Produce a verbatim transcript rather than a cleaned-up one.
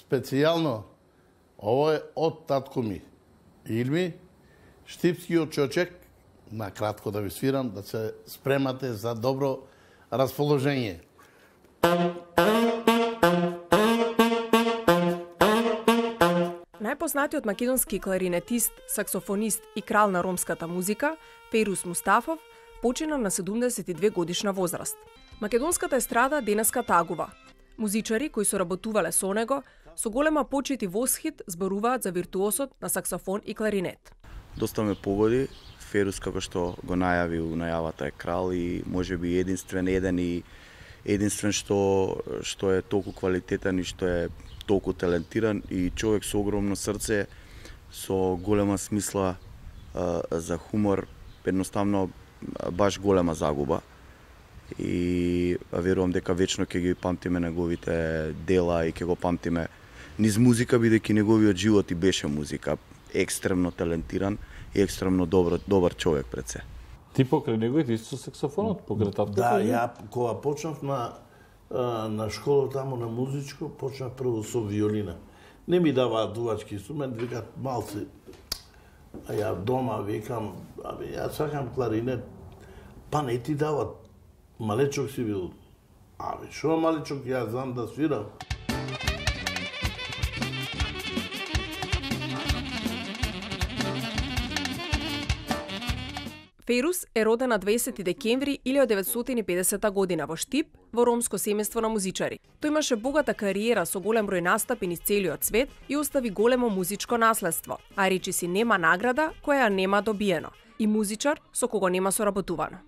специјално ово е од татко ми. Илми, Штипскиот чочек, на кратко да ви свирам, да се спремате за добро расположение. Најпознатиот македонски кларинетист, саксофонист и крал на ромската музика, Фејрус Мустафов, почина на седумдесет и две годишна возраст. Македонската естрада денеска тагува. Музичари кои соработувале со него, со голема почит и восхит зборуваат за виртуосот на саксофон и кларинет. Доста ме погоди. Ферус, како што го најави у најавата, е крал и можеби единствен еден и единствен што што е толку квалитетен и што е толку талентиран и човек со огромно срце, со голема смисла а, за хумор, едноставно баш голема загуба. И верувам дека вечно ќе ги памтиме неговите дела и ќе го памтиме низ музика, бидејќи неговиот живот и беше музика. Екстремно талентиран и екстремно добар, добар човек пред се. Ти покрај него и ти со саксофонот, покрај татко? Да, ја кога почнав на на школа таму на музичко, почнав прво со виолина. Не ми даваат дувачки инструмент, викаат малци. А ја дома викам, абе ја сакам кларинет. Па не ти дават. Малечок си бил. Абе шо малечок, ја знам да свирам. Фејрус е роден на дваесети декември илјадесет деветстотини и педесета година во Штип, во ромско семејство на музичари. Тој имаше богата кариера со голем број настапи низ целиот свет и остави големо музичко наследство, а речиси нема награда која нема добиено, и музичар со кого нема соработувано.